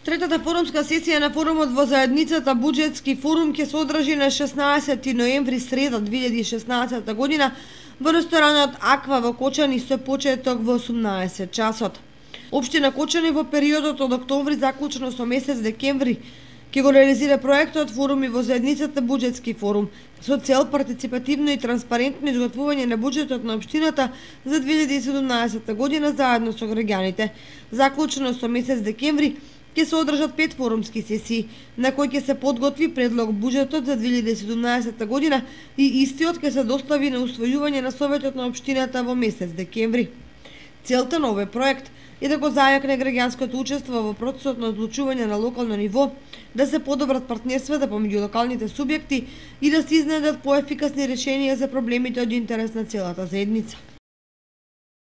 Третата форумска сесија на форумот во заедницата Буџетски форум ќе се одржи на 16 ноември среда 2016 година во ресторанот Аква во Кочани со почеток во 18 часот. Општина Кочани во периодот од октомври заклучно со месец декември ќе го реализира проектот Форуми во заедницата Буџетски форум со цел партиципативно и транспарентно изготвување на буџетот на општината за 2017 година заедно со граѓаните. Заклучно со месец декември ќе се одржат 5 форумски сесии, на кои ќе се подготви предлог буџетот за 2017 година и истиот ќе се достави на усвојување на Советот на општината во месец декември. Целта на овој проект е да го зајакне граѓанското учество во процесот на одлучување на локално ниво, да се подобрат партнерствата помеѓу локалните субјекти и да се изнедат поефикасни решенија за проблемите од интерес на целата заедница.